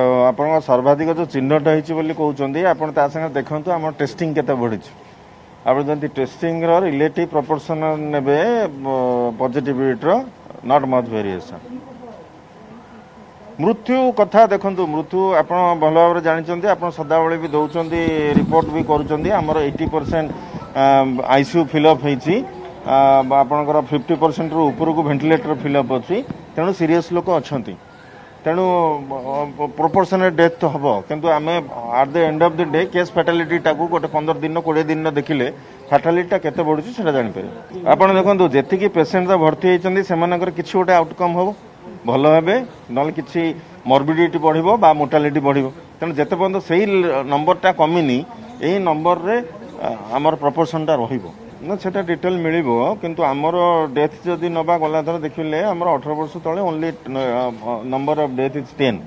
ଆପଣଙ୍କ ସର୍ବାଧିକ ଯେଉଁ ଚିହ୍ନଟ ହେଇଛି ବୋଲି କହୁଛନ୍ତି, ଆପଣ ତା ସାଙ୍ଗରେ ଦେଖନ୍ତୁ ଆମର ଟେଷ୍ଟିଂ କେତେ ବଢ଼ିଛି। ଆପଣ ଯଦି ଟେଷ୍ଟିଂର ରିଲେଟିଭ୍ ପ୍ରପୋର୍ସନ ନେବେ ପଜିଟିଭିଟିର, not much variation. ମୃତ୍ୟୁ କଥା ଦେଖନ୍ତୁ, ମୃତ୍ୟୁ ଆପଣ ଭଲ ଭାବରେ ଜାଣିଛନ୍ତି, ଆପଣ ସଦାବେଳେ ବି ଦେଉଛନ୍ତି, ରିପୋର୍ଟ ବି କରୁଛନ୍ତି। ଆମର 80% ଆଇସିୟୁ ଫିଲ୍ଅପ୍ ହେଇଛି, ଆପଣଙ୍କର 50%ରୁ ଉପରକୁ ଭେଣ୍ଟିଲେଟର ଫିଲ୍ଅପ୍ ଅଛି। ତେଣୁ ସିରିୟସ୍ ଲୋକ ଅଛନ୍ତି, ତେଣୁ ପ୍ରପୋର୍ସନରେ ଡେଥ୍ ହେବ। କିନ୍ତୁ ଆମେ at the end of the day case ଫାଟାଲିଟିଟାକୁ ଗୋଟେ 15 ଦିନ 20 ଦିନ ଦେଖିଲେ ଫାଟାଲିଟିଟା କେତେ ବଢ଼ୁଛି ସେଇଟା ଜାଣିପାରିବେ। ଆପଣ ଦେଖନ୍ତୁ, ଯେତିକି ପେସେଣ୍ଟ ଭର୍ତ୍ତି ହେଇଛନ୍ତି ସେମାନଙ୍କର କିଛି ଗୋଟେ ଆଉଟକମ୍ ହେବ, ଭଲ ହେବେ, ନହେଲେ କିଛି ମର୍ବିଡିଟି ବଢ଼ିବ ବା ମୋର୍ଟାଲିଟି ବଢ଼ିବ। ତେଣୁ ଯେତେ ପର୍ଯ୍ୟନ୍ତ ସେଇ ନମ୍ବରଟା କମିନି, ଏଇ ନମ୍ବରରେ ଆମର ପ୍ରପୋର୍ସନଟା ରହିବ ନା, ସେଟା ଡିଟେଲ ମିଳିବ। କିନ୍ତୁ ଆମର ଡେଥ୍ ଯଦି ନେବା, ଗଲାଥର ଦେଖିଲେ ଆମର 18 ବର୍ଷ ତଳେ only number of death is 10।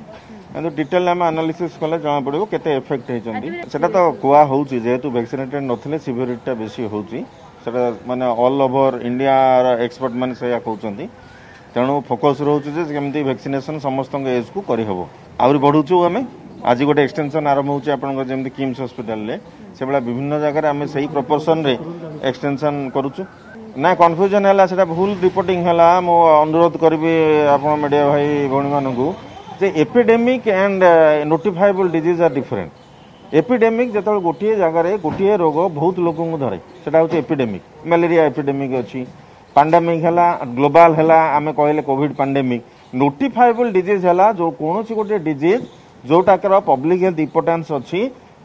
କିନ୍ତୁ ଡିଟେଲ ଆମେ ଆନାଲିସିସ୍ କଲେ ଜଣାପଡ଼ିବ କେତେ ଏଫେକ୍ଟ ହେଇଛନ୍ତି। ସେଟା ତ କୁହା ହେଉଛି, ଯେହେତୁ ଭ୍ୟାକ୍ସିନେଟେଡ୍ ନଥିଲେ ସିଭିରିଟିଟା ବେଶୀ ହେଉଛି, ସେଟା ମାନେ ଅଲ୍ ଓଭର ଇଣ୍ଡିଆର ଏକ୍ସପର୍ଟ ମାନେ ସେଇଆ କହୁଛନ୍ତି। ତେଣୁ ଫୋକସ୍ ରହୁଛି ଯେ କେମିତି ଭ୍ୟାକ୍ସିନେସନ୍ ସମସ୍ତଙ୍କ ଏଜ୍କୁ କରିହେବ। ଆହୁରି ବଢ଼ୁଛୁ ଆମେ। ଆଜି ଗୋଟେ ଏକ୍ସଟେନସନ୍ ଆରମ୍ଭ ହେଉଛି ଆପଣଙ୍କର ଯେମିତି କିମ୍ସ ହସ୍ପିଟାଲରେ, ସେଭଳିଆ ବିଭିନ୍ନ ଜାଗାରେ ଆମେ ସେଇ ପ୍ରପୋର୍ସନରେ ଏକ୍ସଟେନସନ୍ କରୁଛୁ। ନା, କନଫ୍ୟୁଜନ୍ ହେଲା, ସେଟା ଭୁଲ ରିପୋର୍ଟିଂ ହେଲା। ମୁଁ ଅନୁରୋଧ କରିବି ଆପଣ ମିଡ଼ିଆ ଭାଇ ଭଉଣୀମାନଙ୍କୁ ଯେ epidemic and notifiable disease are different. Epidemic ଯେତେବେଳେ ଗୋଟିଏ ଜାଗାରେ ଗୋଟିଏ ରୋଗ ବହୁତ ଲୋକଙ୍କୁ ଧରେ, ସେଟା ହେଉଛି ଏପିଡେମିକ୍। ମ୍ୟାଲେରିଆ ଏପିଡେମିକ୍ ଅଛି। ପାଣ୍ଡେମିକ୍ ହେଲା ଗ୍ଲୋବାଲ ହେଲା, ଆମେ କହିଲେ କୋଭିଡ ପାଣ୍ଡେମିକ୍। ନୋଟିଫାଏବଲ୍ ଡିଜିଜ୍ ହେଲା ଯେଉଁ କୌଣସି ଗୋଟିଏ ଡିଜିଜ୍ ଯେଉଁଟାକର ପବ୍ଲିକ ହେଲ୍ଥ ଇମ୍ପୋର୍ଟାନ୍ସ ଅଛି,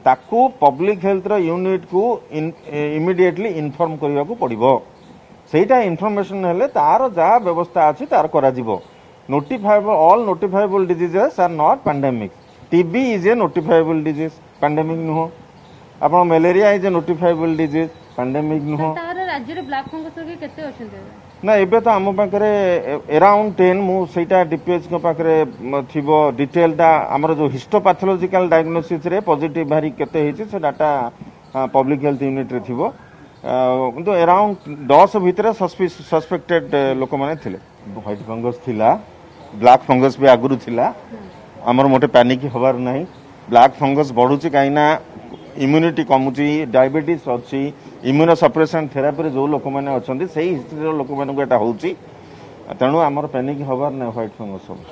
ତାକୁ ପବ୍ଲିକ ହେଲ୍ଥର ୟୁନିଟ୍କୁ ଇମିଡିଏଟଲି ଇନଫର୍ମ କରିବାକୁ ପଡ଼ିବ। ସେଇଟା ଇନଫର୍ମେସନ ହେଲେ ତାର ଯାହା ବ୍ୟବସ୍ଥା ଅଛି ତାର କରାଯିବ। Notifiable, all notifiable diseases are not pandemic. TB is a notifiable disease, pandemic ନୁହଁ। ଆପଣ malaria is a notifiable disease, pandemic ନୁହଁ। ରାଜ୍ୟରେ ବ୍ଲାକ୍ ଫଙ୍ଗସ୍ ରୋଗୀ କେତେ ଅଛନ୍ତି? ନା, ଏବେ ତ ଆମ ପାଖରେ ଏରାଉଣ୍ଡ 10। ମୁଁ ସେଇଟା ଡିପିଏଚ୍ଙ୍କ ପାଖରେ ଥିବ ଡିଟେଲଟା। ଆମର ଯେଉଁ ହିଷ୍ଟୋପାଥୋଲୋଜିକାଲ ଡାଇଗ୍ନୋସିସ୍ରେ ପଜିଟିଭ ବାହାରି କେତେ ହେଇଛି, ସେ ଡାଟା ପବ୍ଲିକ ହେଲ୍ଥ ୟୁନିଟ୍ରେ ଥିବ। କିନ୍ତୁ ଏରାଉଣ୍ଡ 10 ଭିତରେ ସସ୍ପେକ୍ଟେଡ୍ ଲୋକମାନେ ଥିଲେ। ହ୍ୱାଇଟ୍ ଫଙ୍ଗସ୍ ଥିଲା, ବ୍ଲାକ୍ ଫଙ୍ଗସ୍ ବି ଆଗରୁ ଥିଲା। ଆମର ମୋଟେ ପ୍ୟାନିକ୍ ହେବାର ନାହିଁ। ବ୍ଲାକ୍ ଫଙ୍ଗସ୍ ବଢ଼ୁଛି କାହିଁକିନା ଇମ୍ୟୁନିଟି କମୁଛି, ଡାଇବେଟିସ୍ ଅଛି, ଇମ୍ୟୁନୋ ସପ୍ରେସନ୍ ଥେରାପିରେ ଯେଉଁ ଲୋକମାନେ ଅଛନ୍ତି ସେଇ ହିଷ୍ଟ୍ରିର ଲୋକମାନଙ୍କୁ ଏଇଟା ହେଉଛି। ତେଣୁ ଆମର ପ୍ୟାନିକ୍ ହେବାର ନାହିଁ। ହ୍ୱାଇଟ୍ ଫଙ୍ଗସ୍ ସବୁ